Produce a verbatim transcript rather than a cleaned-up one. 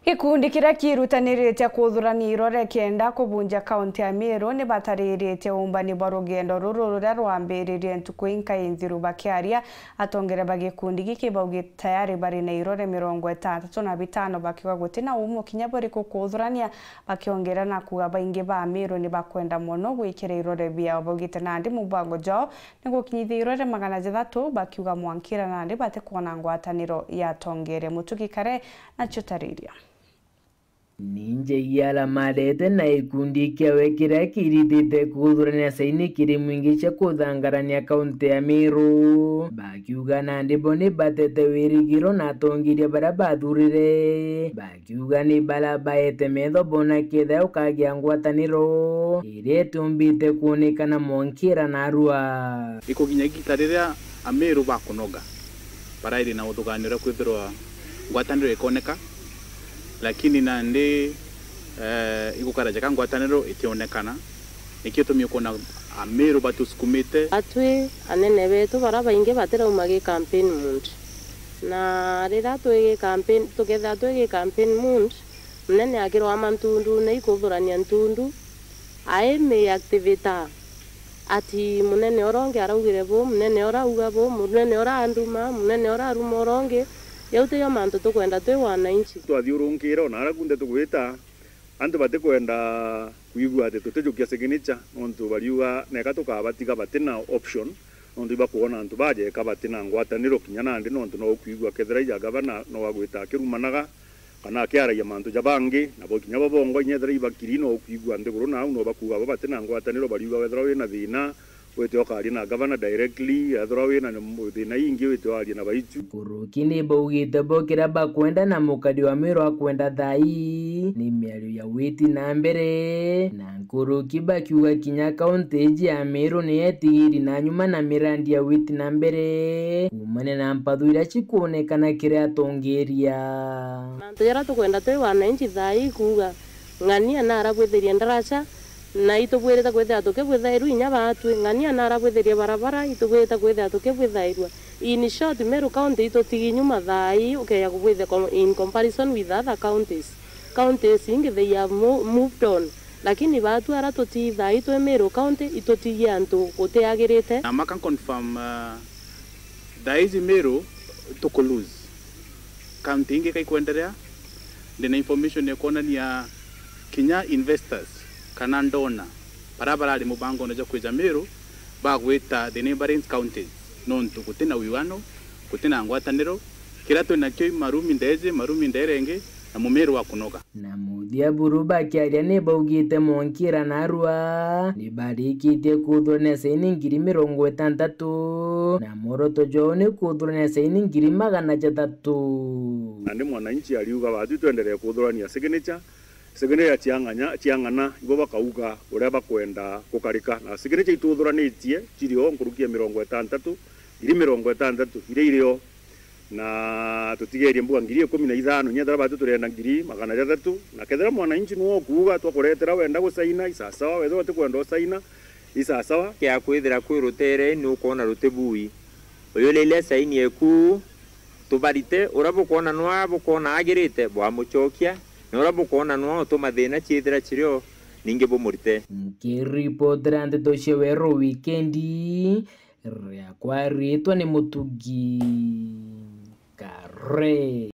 Gikundi kiria kiirutanirite kuthurania irore kenda kubunja kaunti ya Meru ni batariritie uumbani bwa rugendo ruru ruria rwambiririe ntuku inkai nthiru. Bakiaria, atongeria ba gikundi giki baugite tayari bari na irore mirongo itantatu na bitano, bakiuga guti na uumo kinya buriku kuthurania, bakiongera na kuuga baingi ba Meru ni bakwenda mono gwikira irore biao. Baugite nandi mubango jwao ni gukinyithia irore magana jathatu, bakiuga mwankira nandi batikwona ngwataniro ya atongeria. Mutugi Kare nacio tariria. Ninje iaramarete na gikundi kiawe kiria kiritite kuthurania saini kiri mwingi cia kuthangarania kaunti ya Meru, bakiuga nandi bo ni batete wirigiro na atongeria baria bathurire, bakiuga ni baria baete metho bona kethira ukagia ngwataniro iria itumbite kuonekana mwankira narua. Ikuginya igita riria Ameru bakunoga, barairi na uthugaanio uria kwithirwa ngwataniro ikoneka, lakini nandi, eh, igukara jaka ngwataniro itionekana. Nikio gitumi ukwona Ameru batusukumite. Atwi anene betu bara baingi batirauma gi campaign mood, na riria twi gi campaign, tukethira twi gi campaign mood, munene akirwama ntundune ikuthurania ntundu, aimi activator ati munene uria ungi araugire bu, munene uria auga bu, munene uria anduma, munene uria aruma uria ungi. Jau tijo mantu tukwenda twi wananchi. Twathiurunkire ona aria kunthe tugwita, antu batikwenda kwigua ati tutijukia signature, nontu bariuga neka tukabatiga batina option, nontu ibakwona antu bajeka batina ngwataniro kinya nandi, nontu no ukwigua kethira ija gavana no agwita akirumanaga kana akiaragia mantu ja bangi, nabo kinya bo bongwa inya ethira ibakiri no ukwigua nthiguru na au no bakuuga bo batina ngwataniro, bariuga wethira wina thina wite ukaria na gavana directly, ethira wina thina ingi wite waria na baitu. Nkuruki ni baugite bo kiria bakwenda na mukari wa Meru akwenda thaa ii ni miario ya witi na mbere, na nkuruki bakiuga kinya kaunti iji ya Meru ni yetigiri na nyuma na mirandi ya witi na mbere kuumania na mpathu iria cikuonekana kiri atongeria. Mantu jaria tukwenda twi wananchi thaa ii kuuga, ng'ania na arabwithirie ndaraca, na itubwirite kwithira tukibwithairua inya baatwi, ng'ania na arabwithirie barabara, itubwirite kwithira tukibwithairua. In short, Meru County itutigi nyuma thaa ii ukeja kubwithia com-, in comparison with other counties. Counties ingi they have mo-, moved on, lakini baatwi aria tutii thaa ii twi Meru County itutigie antu gutiagirite. Na maka confirm, uh, thaa iji Meru tuku lose. County ingi kaikwenderea, ndina information ya kuonania kinya investors kana ndona bara barari mubangone jwa kwija Meru bagwita the neighboring counties, nontu gutina wiwano, gutina ngwataniro. Kiria twinakio i marumi ndeji, marumi nderengi, na mumiru wa kunoga. Na muthia buru bakiaria ni baugite mwankira narua ni barikitie kuthurania saini ngiri mirongo itantatu, na mworoto jwao ni kuthurania saini ngiri magana jathatu. Nandi mwananchi ariuga, "Baatwi twenderee kuthurania signature, signature ciang'anya-, ciang'ana, ibo bakauga uria bakwenda gukarika." Na signature ituthuranitie cirio nkuruki ya mirongo itantatu, ngiri mirongo itantatu iria irio, na tutigerie mbuga ngiri ikumi na ithano, inya ethira baatwi turienda ngiri magana jathatu. Na kethira mwananchi niwe ukuuga twakuretera wenda gusaina, isasawa, wethira utikwenda usaina, isasawa. Kia kwithira kwi rutere ni ukwona ruti bui. Uyu riria saini eku, tubarite, uria bukwona nwa bukwona agirite, bwamucokia, na uria bukwona nwa utuma thina ciithira cirio, ningi bumurite. Nkiripotera ndeto cia Weru Wikendi, riakwa riitwa ni Mutugi Kare.